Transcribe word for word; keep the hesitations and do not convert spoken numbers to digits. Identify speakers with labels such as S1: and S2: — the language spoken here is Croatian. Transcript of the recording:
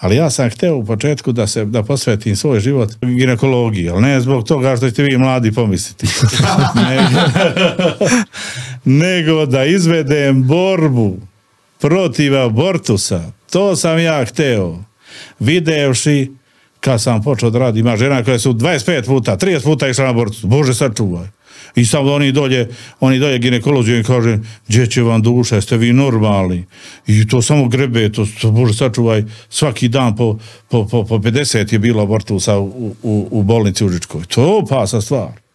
S1: Ali ja sam hteo u početku da se da posvetim svoj život ginekologiji, ali ne zbog toga što ćete vi mladi pomisliti. nego, nego da izvedem borbu protiv abortusa. To sam ja hteo. Videvši kad sam počeo da radim, ima žena koja su dvadeset pet puta, trideset puta išla na abortus. Bože, sačuvaj. I samo oni dolje, oni dolje ginekolozi im kaže, gdje će vam duša, jeste vi normalni? I to samo grebe, to, to Bože sačuvaj, svaki dan po, po, po, po pedeset je bilo abortusa u, u, u bolnici u Užičkoj. To je opasna stvar.